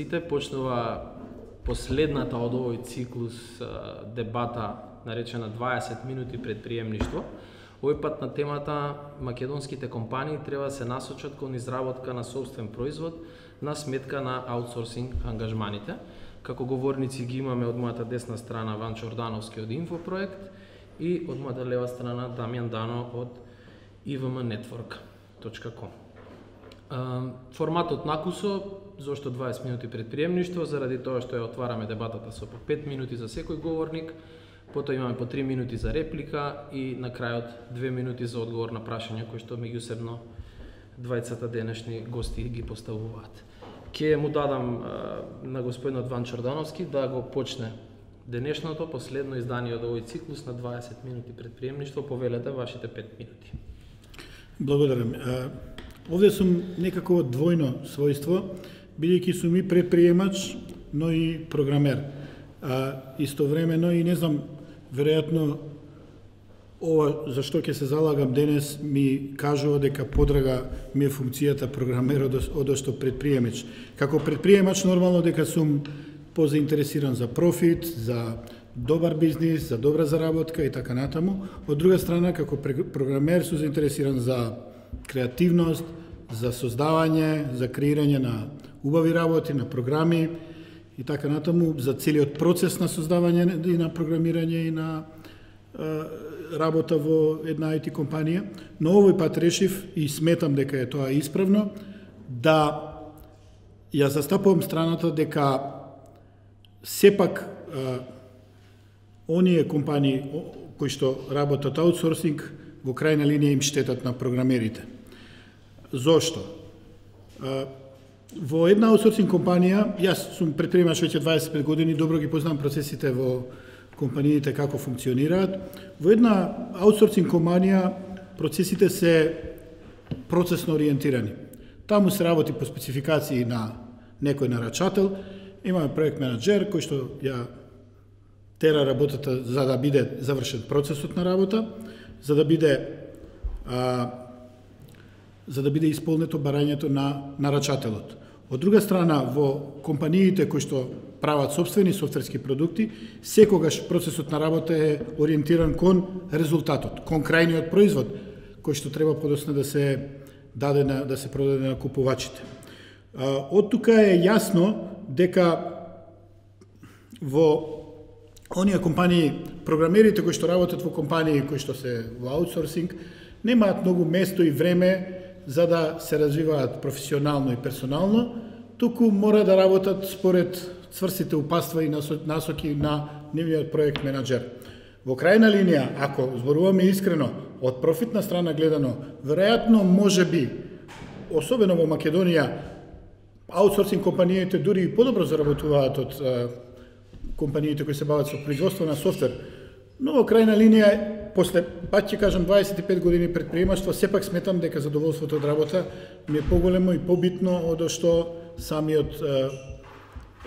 сите. Почнува последната од овој циклус дебата наречена 20 минути предприемништво. Овој пат на темата македонските компании треба да се насочат кон изработка на сопствен производ на сметка на аутсорсинг ангажманите. Како говорници ги имаме од мојата десна страна Ван Чордановски од Инфопроект и од мојата лева страна Дамјан Дано од ivmnetwork.com. Форматот накусо, зошто 20 минути предприемништво, заради тоа што ја отвараме дебатата со по 5 минути за секој говорник, потоа имаме по 3 минути за реплика и на крајот 2 минути за одговор на прашања кои што меѓусебно двајцата денешни гости ги поставуваат. Ке му дадам на господинот Ван Чордановски да го почне денешното последно издание од овој циклус на 20 минути предприемништво. Повелете вашите 5 минути. Благодарам. Овде сум некако двојно својство, бидејќи сум и предприемач, но и програмер. Истовремено и не знам, веројатно ова за што ќе се залагам денес ми кажува дека подрага ми е функцијата програмер одошто предприемач. Како предприемач нормално дека сум позаинтересиран за профит, за добар бизнис, за добра заработка и така натаму. Од друга страна, како програмер сум заинтересиран за креативност, за создавање, за креирање на убави работи, на програми и така натаму, за целиот процес на создавање и на програмирање и на работа во една IT компанија. Но овој пат решив и сметам дека е тоа исправно, да ја застапувам страната дека сепак оние компании кои што работат аутсорсинг во крајна линија им штетат на програмерите. Зошто? Во една аутсорсинг компанија, јас сум предприемач веќе 25 години, добро ги познавам процесите во компаниите како функционираат. Во една аутсорсинг компанија процесите се процесно ориентирани. Таму се работи по спецификации на некој нарачател, имаме проект менаџер кој што ја тера работата за да биде завршен процесот на работа, за да биде исполнето барањето на нарачателот. Од друга страна, во компаниите кои што прават собствени софтверски продукти, секогаш процесот на работа е ориентиран кон резултатот, кон крајниот производ, кој што треба подоцна да се продаде на купувачите. Од тука е јасно дека во оние компании, програмерите кои што работат во компании кои што се во аутсорсинг, немаат многу место и време за да се развиваат професионално и персонално, туку мора да работат според цврстите упатства и насоки на нивниот проект менаџер. Во крајна линија, ако зборуваме искрено, од профитна страна гледано, веројатно можеби, особено во Македонија, аутсорсинг компаниите дури и подобро заработуваат од компаниите кои се бават со производство на софтвер. Но во крајна линија, после, пак ќе кажам, 25 години предприемаштво, сепак сметам дека задоволството од работа ми е поголемо и побитно од што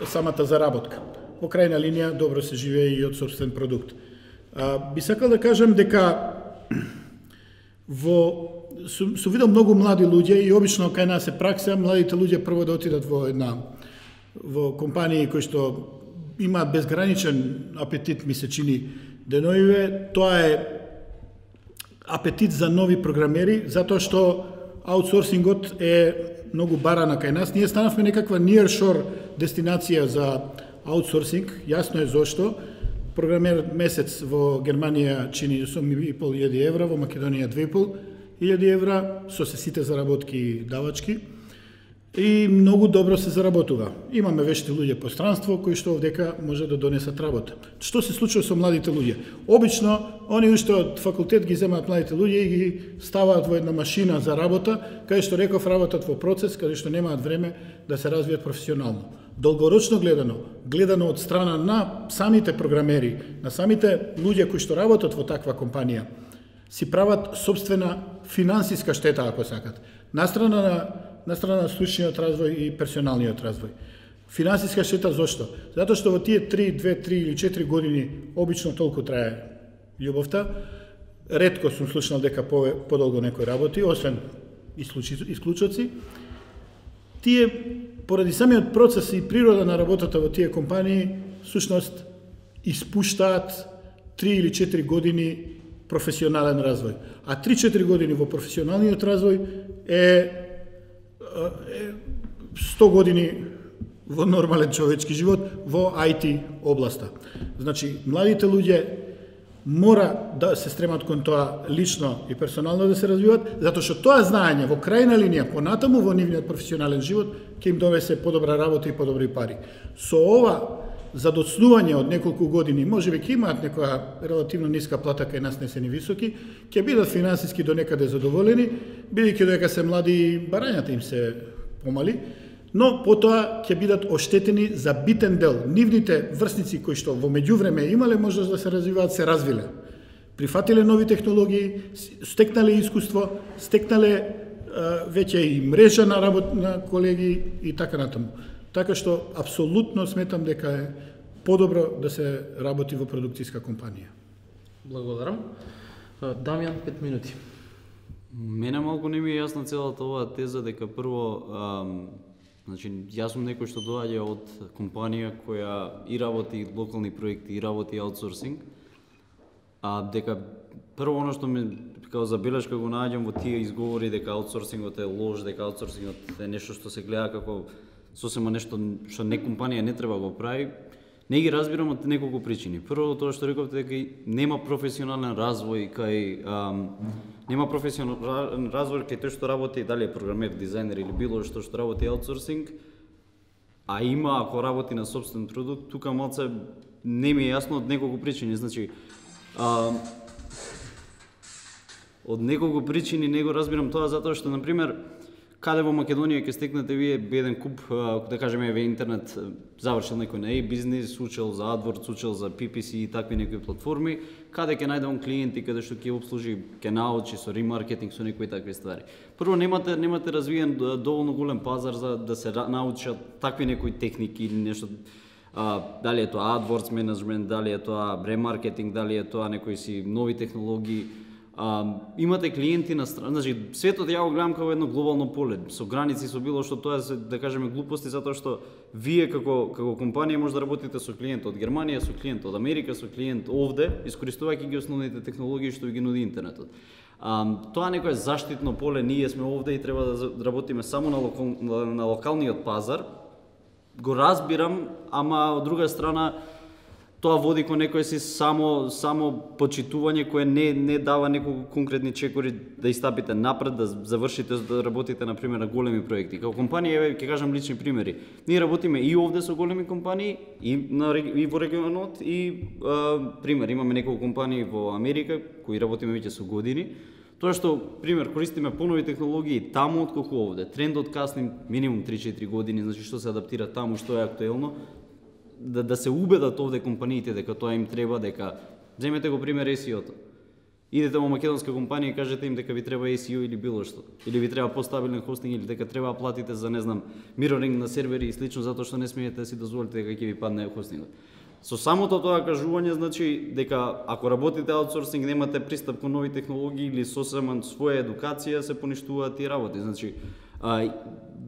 самата заработка. Во крајна линија, добро се живее и од собствен продукт. Би сакал да кажам дека сум видел многу млади луѓе и обично кај нас е пракса младите луѓе прво да отидат во компании кои што имаат безграничен апетит, ми се чини деноиве. Тоа е апетит за нови програмери, затоа што аутсорсингот е многу барана кај нас. Ние станавме некаква nearshore дестинација за аутсорсинг, јасно е зошто. Програмер месец во Германија чини 8.500 евра, во Македонија 2.500 евра, со сите заработки и давачки. И многу добро се заработува. Имаме вешти луѓе по странство кои што овдека може да донесат работа. Што се случува со младите луѓе? Обично, они уште од факултет ги земаат младите луѓе и ги ставаат во една машина за работа, каде што реков работат во процес, каде што немаат време да се развијат професионално. Долгорочно гледано од страна на самите програмери, на самите луѓе кои што работат во таква компанија, си прават собствена финансиска штета, ако сакат. На страна на стручниот развој и персоналниот развој. Финансиска штета зошто? Затоа што во тие 2, 3 или 4 години обично толку трае љубовта. Ретко сум слушнал дека подолго некој работи, освен исклучоци. тие поради самиот процес и природа на работата во тие компании всушност испуштаат 3 или 4 години професионален развој. А 3-4 години во професионалниот развој е 100 години во нормален човечки живот во IT областа. Значи, младите луѓе мора да се стремат кон тоа лично и персонално да се развиват, затоа што тоа знаење во крајна линија понатаму во нивниот професионален живот ќе им довесе подобра работа и подобри пари. Со ова задоцнување од неколку години, можеби ќе имаат некоја релативно ниска плата, кај нас не се ни високи, ќе бидат финансиски до некаде задоволени, бидејќи додека се млади и барањата им се помали, но потоа ќе бидат оштетени за битен дел. Нивните врсници кои што во меѓувреме имале можност да се развиваат, се развиле. Прифатиле нови технологии, стекнале искуство, стекнале веќе и мрежа на работа на колеги и така натаму. Така што апсолутно сметам дека е подобро да се работи во продукцијска компанија. Благодарам. Дамјан, 5 минути. Мене малку не ми е јасна целата оваа теза дека прво значи, јас сум некој што доаѓа од компанија која и работи локални проекти, и работи аутсорсинг, дека прво оно што ме као забелешка го наоѓам во тие изговори дека аутсорсингот е лош, дека аутсорсингот е нешто што се гледа како сосема нешто што не компанија не треба го прави, не ги разбирам од неколку причини. Прво тоа што рековте дека нема професионален развој кај нема професионален развој кај тој што работи, дали е програмер, дизајнер или било што работи аутсорсинг, а има ако работи на сопствен продукт, тука малце не ми е јасно од неколку причини. Значи, од неколку причини не го разбирам тоа затоа што, например, каде во Македонија ќе стекнете вие еден куп, да кажеме, во интернет, завршил некој на e-бизнис, учел за AdWords, учел за PPC и такви некои платформи, каде ќе најде он клиенти, каде што ќе обслужи, ќе научи со ремаркетинг, со некои такви ствари. Прво, немате развиен доволно голем пазар за да се научат такви некои техники или нешто, дали е тоа AdWords менеджмент, дали е тоа ремаркетинг, дали е тоа некои си нови технологии. Имате клиенти на страна, значи светот ја го гледам како едно глобално поле, со граници, со било што, тоа се, да кажеме, глупости, затоа што вие како компанија може да работите со клиент од Германија, со клиент од Америка, со клиент овде, искористувајќи ги основните технологии што ви ги нуди интернетот. Тоа некое заштитно поле, ние сме овде и треба да работиме само на локалниот пазар. Го разбирам, ама од друга страна тоа води кон некој си само почитување кое не дава неколку конкретни чекори да истапите напред, да завршите, да работите на пример на големи проекти. Како компанија, ќе кажам лични примери. Ние работиме и овде со големи компании, и во регионот, и пример, имаме неколку компании во Америка кои работиме веќе со години. Тоа што, пример, користиме понови технологии таму отколку овде. Трендот касни минимум 3-4 години, значи што се адаптира таму, што е актуелно, да се убедат овде компаниите дека тоа им треба, дека земете го пример SEO-то. Идете во македонска компанија и кажете им дека ви треба SEO или било што, или ви треба постабилен хостинг, или дека треба да платите за, не знам, мироринг на сервери и слично, затоа што не смеете да си дозволите дека ќе ви падне хостингот. Со самото тоа кажување, значи дека ако работите аутсорсинг, немате пристап кон нови технологии или сосема своја едукација, се поништуваат тие работи. Значи,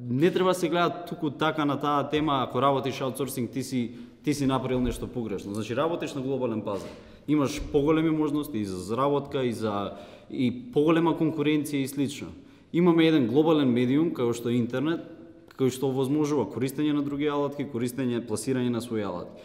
не треба да се гледа туку така на таа тема, ако работиш аутсорсинг, ти си направил нешто погрешно. Значи, работиш на глобален пазар. Имаш поголеми можности и за заработка, и поголема конкуренција и слично. Имаме еден глобален медиум, како што е интернет, кој што овозможува користење на други алатки, пласирање на своји алатки.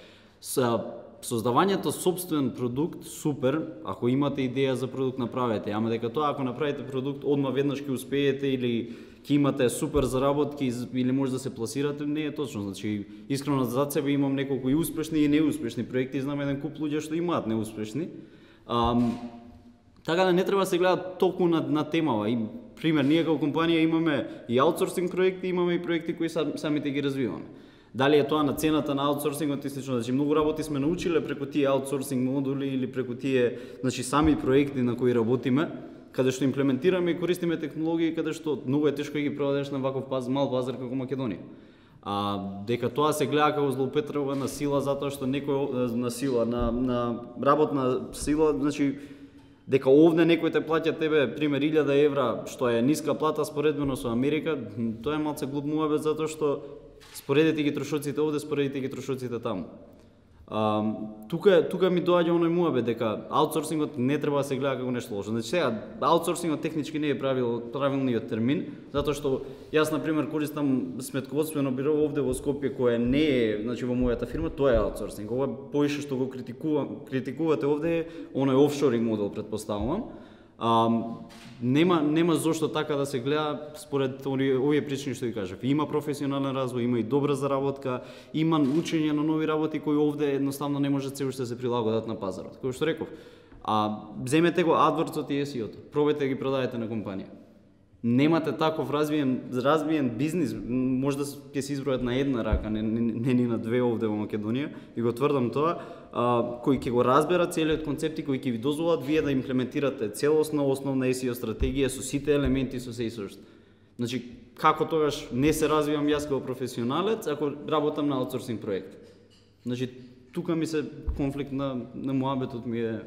Создавањето собствен продукт, супер, ако имате идеја за продукт, направете, ама дека тоа, ако направите продукт, одма веднаш ќе успеете или ќе имате супер заработки или може да се пласирате, не е точно. Значи, искрено за себе имам неколку и успешни и неуспешни проекти, знам еден куп луѓе што имаат неуспешни. Така да не треба да се гледа толку на темава. И пример, ние како компанија имаме и аутсорсинг проекти, имаме и проекти кои самите ги развиваме. Дали е тоа на цената на аутсорсингот и слично, значи многу работи сме научиле преку тие аутсорсинг модули или преку тие, значи сами проекти на кои работиме, каде што имплементираме и користиме технологии каде што многу е тешко да ги проведеш на ваков мал пазар како Македонија. Дека тоа се гледа како злоупотреба на сила затоа што некој на сила, на работна сила, значи дека овде некој те плаќа тебе пример 1000 евра, што е ниска плата споредбено со Америка, тоа е малце глуп муабет затоа што споредите ги трошоците овде, споредите ги трошоците таму. Тука ми доаѓа оној муабет дека аутсорсингот не треба да се гледа како нешто лошо. Значи сега аутсорсингот технички не е правилниот термин, затоа што јас на пример користам сметководствено биро овде во Скопје кое не е, значи во мојата фирма, тоа е аутсорсинг. Ова поише што го критикувате овде е оној офшоринг модел, претпоставувам. Нема зошто така да се гледа според овие причини што ви кажав. Има професионален развој, има и добра заработка, има учење на нови работи кои овде едноставно не можат се уште се прилагодат на пазарот. Како што реков, земете го AdWords-от и SEO-то, пробајте да ги продадете на компанија. Немате таков развиен бизнис, можда ќе се избројат на една рака, не ни на две овде во Македонија, и го тврдам тоа, кои ќе го разберат целиот концепт и кои ќе ви дозволат вие да имплементирате целосна основна SEO стратегија со сите елементи, со се и со што. Значи, како тогаш не се развивам јас како професионалец, ако работам на аутсорсинг проект. Значи, тука ми се конфликт на муабетот ми е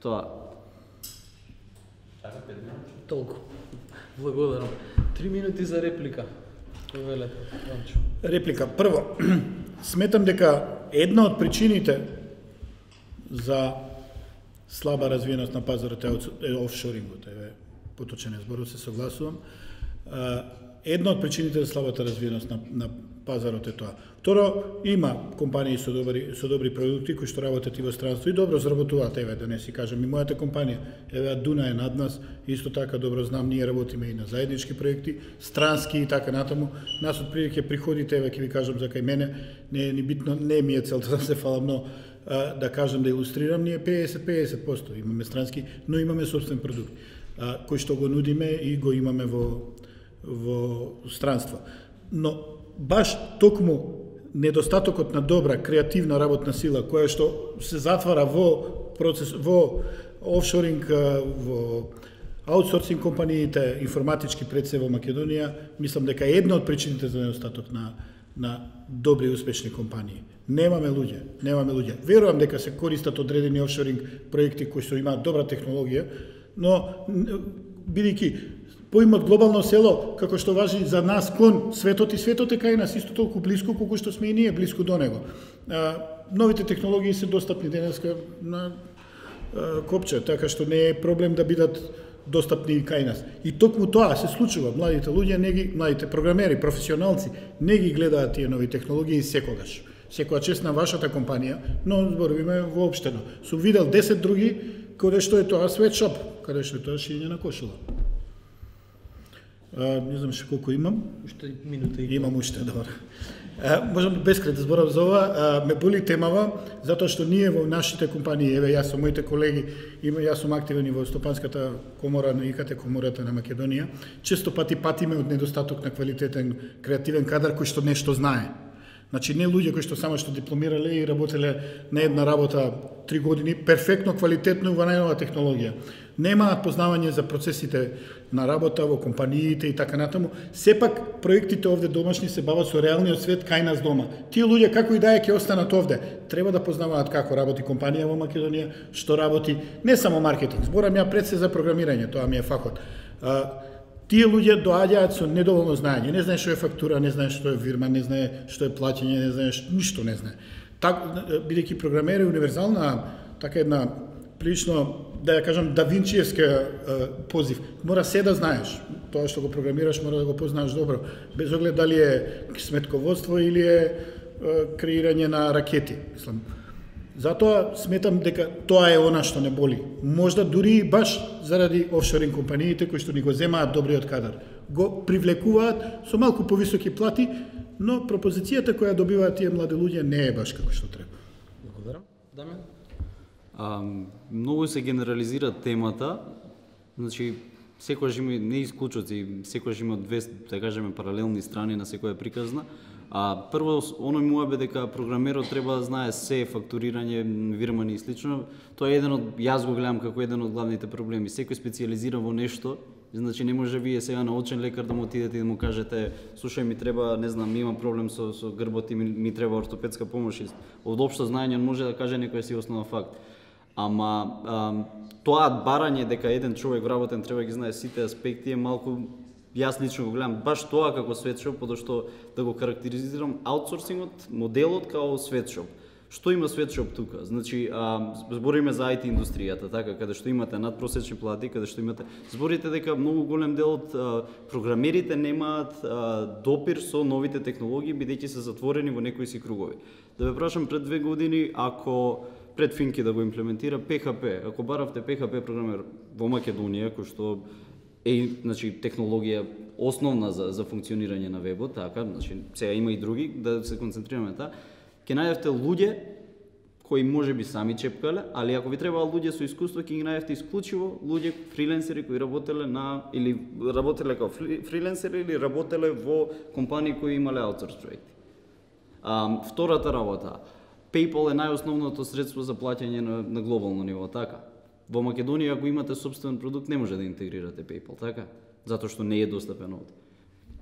тоа. Толку. Благодарам. 3 минути за реплика. Повелете, Ранчо. Реплика. Прво, сметам дека една од причините за слаба развиеност на пазарот е офшорингот. Поточен зборот, се согласувам. Една од причините за слабата развиеност на пазарот е тоа. Второ, има компании со добри продукти кои што работат и во странство и добро заработуваат, да не си кажам, и мојата компанија, Дуна е над нас, исто така добро знам, ние работиме и на заеднички проекти, странски и така натаму. Нас отприлike приходите, ќе ви кажам за кај мене, не е ни битно, не ми е целта да се фалам, но да кажам да илустрирам, ние 50% имаме странски, но имаме собствен продукт, кој што го нудиме и го имаме во странство. Но баш токму недостатокот на добра креативна работна сила која што се затвара во процес, во офшоринг, во аутсорсинг компаниите, информатички пред се во Македонија, мислам дека е една од причините за недостаток на добри и успешни компании. Немаме луѓе. Верувам дека се користат одредени офшоринг проекти кои што имаат добра технологија, но бидејќи поимот глобално село, како што важи за нас кон светот, и светот е кај нас исто толку блиску колку што сме и ние блиску до него. Новите технологии се достапни денеска на копче, така што не е проблем да бидат достапни кај нас. И токму тоа се случува. Младите луѓе, младите програмери, професионалци не ги гледаат тие нови технологии секогаш. Секоја чест на вашата компанија, но зборивме воопштено. Сум видел 10 други каде што е тоа sweatshop, каде што е тоа шиење на кошула. Не знам ше колку имам. Уште минута и имам уште, добро. Можам бескрај да зборам за ова. Ме боли темава, затоа што ние во нашите компании, јас со моите колеги, јас сум активен и во Стопанската комора на ИКТ комората на Македонија, често пати патиме од недостаток на квалитетен креативен кадар кој што нешто знае. Значи не луѓе кои што само што дипломирале и работеле на една работа 3 години, перфектно, квалитетно во најнова технологија. Немаат познавање за процесите на работа во компаниите и така натаму. Сепак проектите овде домашни се бават со реалниот свет кај нас дома. Тие луѓе како и да е ќе останат овде, треба да познаваат како работи компанија во Македонија, што работи, не само маркетинг. Зборам ја пред се за програмирање, тоа ми е факот. Тие луѓе доаѓаат со недоволно знаење, не знае што е фактура, не знае што е фирма, не знае што е плаќање, не знае ништо не знае. Бидејќи програмер е универзална, така една прилично, да ја кажам, давинчиевска позив. Мора се да знаеш. Тоа што го програмираш мора да го познаеш добро, без оглед дали е сметководство или е креирање на ракети. Затоа сметам дека тоа е она што не боли. Можда дури баш заради офшоринг компаниите кои што ни го земаат добриот кадар. Го привлекуваат со малку повисоки плати, но пропозицијата која добиваат тие млади луѓе не е баш како што треба. Благодарам. Дамјан? Многу се генерализира темата, значи секојаш има не исклучоци, секојаш има две, да кажеме, паралелни страни на секоја приказна. Прво, оној муабет дека програмерот треба да знае се фактурирање, вирмани и слично. Тоа е еден од, јас го гледам како еден од главните проблеми. Секој специализира во нешто, значи не може вие сега на очен лекар да му отидете и да му кажете слушај, ми треба, не знам, имам проблем со грбот и ми треба ортопедска помош. Од општо знаење може да каже некој си основен факт. Ама тоа барање дека еден човек вработен треба ги знае сите аспекти е малку, јас лично го гледам баш тоа како светшоп, подошто да го карактеризирам аутсорсингот, моделот као светшоп. Што има светшоп тука? Значи, збориме за IT индустријата, така, каде што имате надпросечни плати, каде што имате... Зборите дека многу голем дел од програмерите немаат допир со новите технологии, бидејќи се затворени во некои си кругови. Да ве прашам, пред 2 години, ако пред Финки да го имплементира PHP, ако баравте PHP програмер во Македонија, кој што е, значи, технологија основна за функционирање на вебот, така, значи, сега има и други, да се концентрираме таа, ќе најдете луѓе кои можеби сами чепкале, али ако ви требаа луѓе со искуство, ќе ги најдете исклучиво луѓе фриленсери кои работеле или работеле како фриленсери или работеле во компании кои имале аутсорс проекти. Втората работа, PayPal е најосновното средство за плаќање на глобално ниво, така? Во Македонија, ако имате собствен продукт, не може да интегрирате PayPal, така? Затоа што не е достапен овде.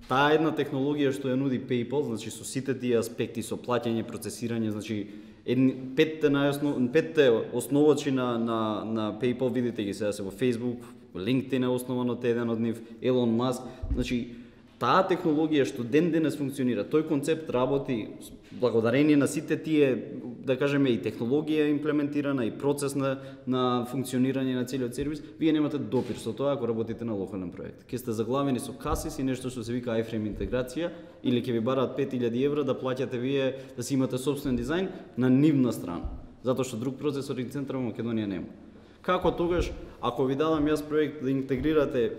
Таа една технологија што ја нуди PayPal, значи со сите тие аспекти, со плаќање, процесирање, значи петте основачи на PayPal, видите ги сега се во Facebook, LinkedIn е основан од еден од нив, Елон Маск, значи таа технологија што ден денес функционира, тој концепт работи благодарение на сите тие, да кажеме, и технологија имплементирана, и процес на функционирање на целиот сервис, вие немате допир со тоа ако работите на локален проект. Ке сте заглавени со касис и нешто што се вика iframe интеграција, или ќе ви бараат 5000 евра да плаќате вие, да си имате собствен дизајн на нивна страна, затоа што друг процесорен центар во Македонија нема. Како тогаш, ако ви дадам јас проект да интегрирате,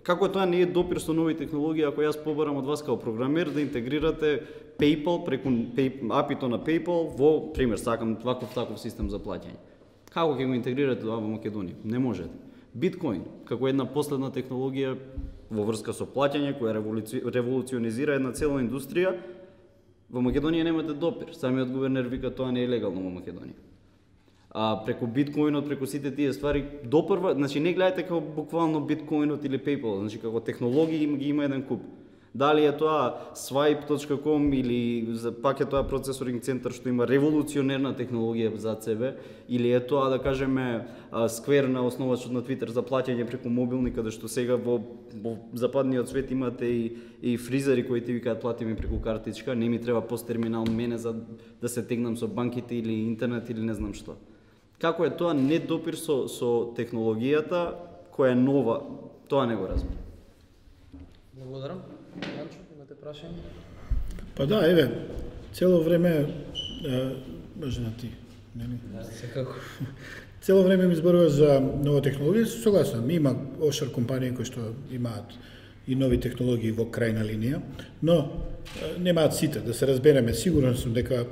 како тоа не е допир со нови технологии, ако јас побарам од вас као програмер да интегрирате PayPal преку API-то на PayPal во, пример, сакам таков систем за плаќање. Како ќе го интегрирате тоа во Македонија? Не можете. Биткоин, како една последна технологија во врска со плаќање, која револуционизира една цела индустрија, во Македонија немате допир. Самиот гувернер вика тоа не е легално во Македонија. Преку биткоинот, преку сите тие ствари, допрва, значи не гледајте како буквално биткоинот или PayPal, значи како технологии ги има еден куп. Дали е тоа swipe.com или пак е тоа процесоринг центар што има револуционерна технологија зад себе, или е тоа, да кажеме, Square на основачот на Twitter за плаќање преку мобилни, каде што сега во западниот свет имате и фризери кои ти викаат плати ми преку картичка, не ми треба посттерминал мене за да се тегнам со банките или интернет или не знам што. Како е тоа недопир со технологијата која е нова, тоа не го разбирам. Благодарам. Јанчо, имате прашање? Па да, еве, цело време, може на ти, нели? Секако. Цело време ми зборуваш за нова технологија, согласен, има офшор компании кои што имаат и нови технологии во крајна линија, но немаат сите, да се разбереме, сигурен сум дека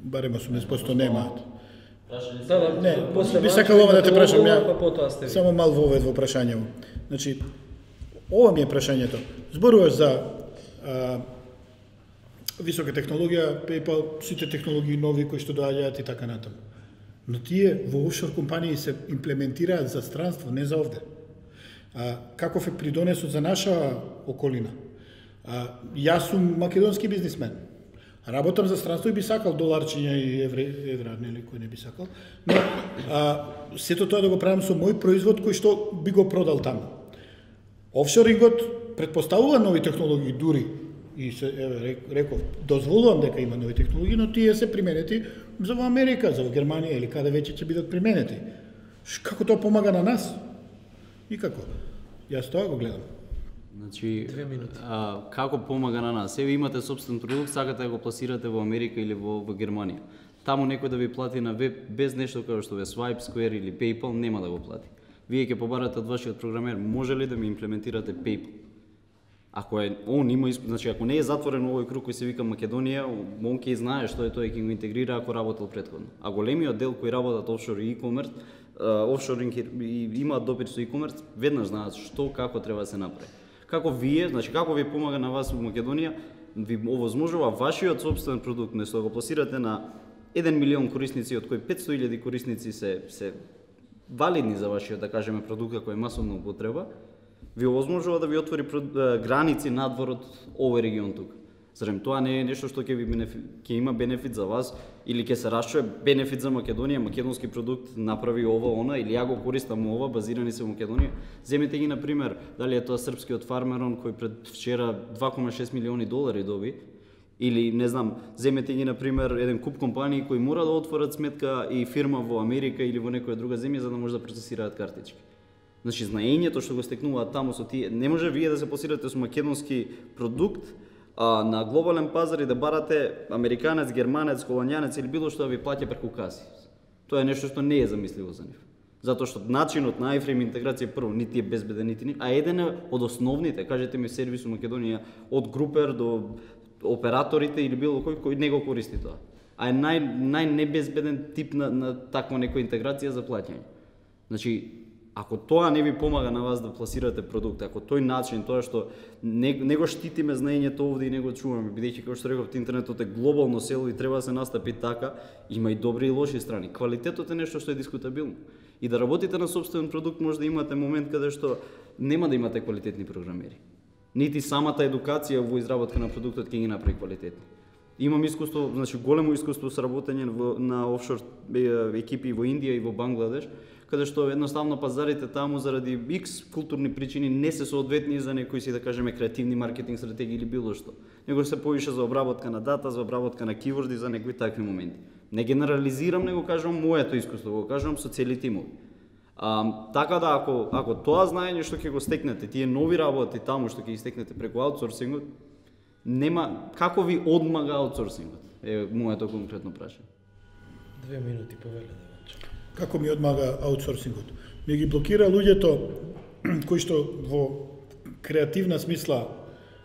барем 80% немаат. Да, не, би сакал ова да те прашам, само мал вовед во прашањето. Значи, ова ми е прашањето. Зборуваш за висока технологија, PayPal, сите технологии нови кои што доаѓаат и така натаму. Но тие во офшор компании се имплементираат за странство, не за овде. Каков е придонесот за наша околина? Јас сум македонски бизнисмен. Работам за странство и би сакал доларчиња и евра, нели, кој не би сакал. Но сето тоа да го правам со мој производ кој што би го продал таму. Офшорингот предпоставува нови технологии дури и се реков дозволувам дека има нови технологии, но тие се применети за во Америка, за во Германија или каде веќе ќе бидат применети. Како тоа помага на нас? Никако. Јас тоа го гледам. Значи, како помага на нас? Еве имате собствен продукт, сакате да го пласирате во Америка или во Германија. Таму некој да ви плати на веб без нешто како што е Swipe, Square или PayPal, нема да го плати. Вие ќе побарате од вашиот програмер, може ли да ми имплементирате PayPal? Ако е он има, значи ако не е затворен овој круг кој се вика Македонија, он ќе знае што е тоа и ќе го интегрира ако работел претходно. А големиот дел кои работат офшор и e-commerce, офшоринг и имаат допир со e-commerce, веднаш знаат што како треба да се направи. Како вие, значи како ви помага на вас во Македонија, ви овозможува вашиот собствен продукт, место да го пласирате на 1 милион корисници, од кои 500.000 корисници се валидни за вашиот, да кажеме, продукт кој е масовна употреба, ви овозможува да ви отвори граници надвор од овој регион тука. Зарем тоа не е нешто што ќе има бенефит за вас или ќе се расчуе бенефит за Македонија, македонски продукт направи ова, она или ја го користам ова, базирани се во Македонија. Земете ги на пример, дали е тоа српскиот фармерон кој пред вчера 2,6 милиони долари доби, или не знам, земете ги на пример еден куп компании кои мора да отворат сметка и фирма во Америка или во некоја друга земја за да може да процесираат картички. Значи знаењето што го стекнуваат таму со тие, не може вие да се посирате со македонски продукт на глобален пазар и да барате американец, германец, холандјанец или било што да ви плаќа преку каси. Тоа е нешто што не е замисливо за нив. Затоа што начинот на iFrame интеграција прво нити е безбеден, нити а еден е од основните, кажете ми сервис во Македонија од Групер до операторите или било кој не го користи тоа. А е најнебезбеден тип на таква некоја интеграција за плаќање. Значи, ако тоа не ви помага на вас да пласирате продукт, ако тој начин, тоа што не го штитиме знаењето овде и не го чуваме, бидејќи како што реков, интернетот е глобално село и треба да се настапи така, има и добри и лоши страни. Квалитетот е нешто што е дискутабилно. И да работите на сопствен продукт може да имате момент каде што нема да имате квалитетни програмери. Нити самата едукација во изработка на продуктот ќе ги направи квалитетни. Имам искуство, значи големо искуство со работење на офшор екипи во Индија и во Бангладеш, каде што едноставно пазарите таму заради X културни причини не се соодветни за некои си да кажеме креативни маркетинг стратегии или било што. Него се повише за обработка на дата, за обработка на киворди, за некои такви моменти. Не генерализирам, него кажам моето искуство, го кажам со цели тимови. Така да ако тоа знаење што ќе го стекнете, тие нови работи таму што ќе ги стекнете преку аутсорсингот, нема како ви одмага аутсорсингот. Е моето конкретно прашање. 2 минути повеле. Како ми одмага аутсорсингот? Ми ги блокира луѓето кои што во креативна смисла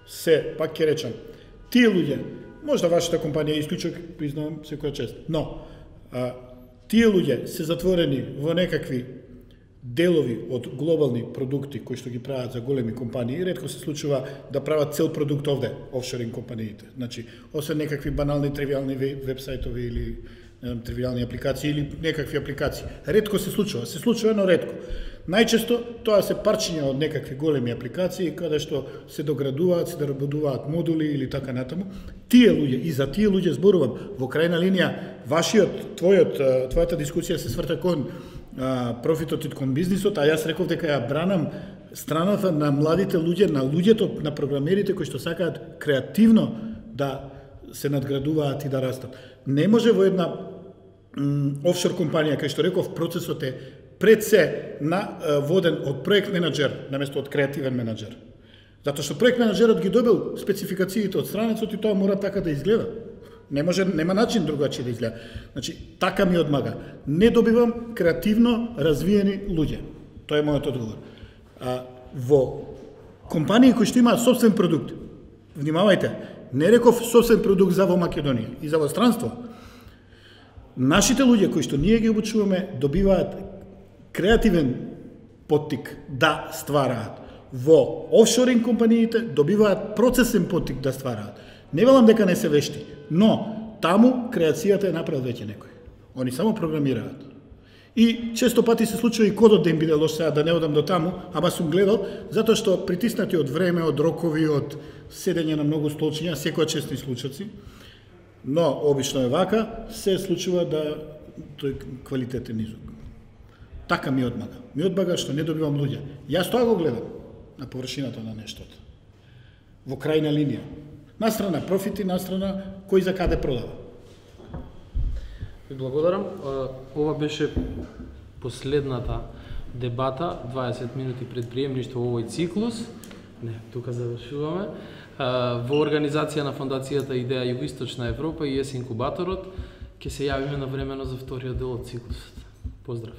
се, пак ќе речам, тие луѓе, можда вашата компанија исклучок, признавам секоја чест, но тие луѓе се затворени во некакви делови од глобални продукти кои што ги прават за големи компании, ретко се случува да прават цел продукт овде, офшоринг компаниите. Значи, освен некакви банални, тривиални вебсајтови или тривиални апликации или некакви апликации. Ретко се случува, но ретко. Најчесто тоа се парчиња од некакви големи апликации каде што се доградуваат, се доработуваат модули или така натаму. Тие луѓе, и за тие луѓе зборувам, во крајна линија, твојата дискусија се сврта кон профитот и кон бизнисот, а јас реков дека ја бранам страната на младите луѓе, на луѓето, на програмерите кои што сакаат креативно да се надградуваат и да растат. Не може во една офшор компанија, кај што реков, процесот е пред се воден од проект менаџер, наместо од креативен менаџер. Затоа што проект менаџерот ги добил спецификациите од странецот и тоа мора така да изгледа. Нема начин другачи да изгледа. Значи, така ми одмага. Не добивам креативно развиени луѓе. Тоа е мојот одговор. Во компании кои што имаат собствен продукт, внимавајте, не реков собствен продукт за во Македонија и за во странство. Нашите луѓе кои што ние ги обучуваме добиваат креативен поттик да ствараат. Во офшоринг компаниите добиваат процесен поттик да ствараат. Не велам дека не се вешти, но таму креацијата е направил веќе некој. Они само програмираат. И често пати се случува и кодот да им биде лош, сега да не одам до таму, ама сум гледал, затоа што притиснати од време, од рокови, од седење на многу столчиња, секоја честни случаци, но обично е вака, се случува да тој квалитет е низок. Така ми одмага. Ми одмага што не добивам луѓе. Јас тоа го гледам на површината на нештото. Во крајна линија. Настрана профити, настрана кој за каде продава. Ви благодарам. Ова беше последната дебата, 20 минути пред приемништво во овој циклус. Не, тука завршуваме. Во организација на Фондацијата Идеја Југоисточна Европа и ЕС Инкубаторот ќе се јавиме на времено за вториот дел од циклусот. Поздрав!